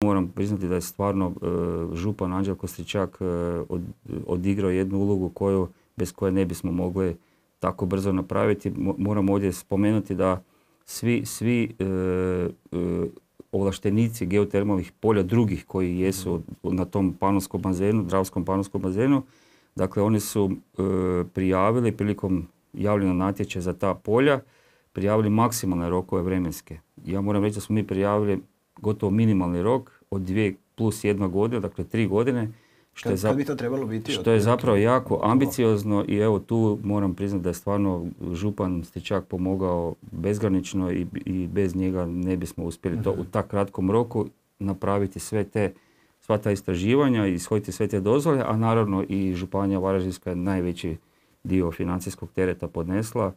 Moram priznati da je stvarno župan Anđelko Stričak odigrao jednu ulogu bez koje ne bismo mogli tako brzo napraviti. Moram ovdje spomenuti da svi ovlaštenici geotermalnih polja drugih koji jesu na tom panonskom bazenu, Dravskom panonskom bazenu, dakle oni su prijavili prilikom javljanja natječaja za ta polja, prijavili maksimalne rokove vremenske. Ja moram reći da smo mi prijavili gotovo minimalni rok od 2 plus 1 godina, dakle 3 godine. Kad bi to trebalo biti? Što je zapravo jako ambiciozno i evo tu moram priznati da je stvarno župan Stričak pomogao bezgranično i bez njega ne bismo uspjeli to u tak kratkom roku napraviti sva ta istraživanja i ishoditi sve te dozvole, a naravno i županija Varaždinska je najveći dio financijskog tereta podnesla.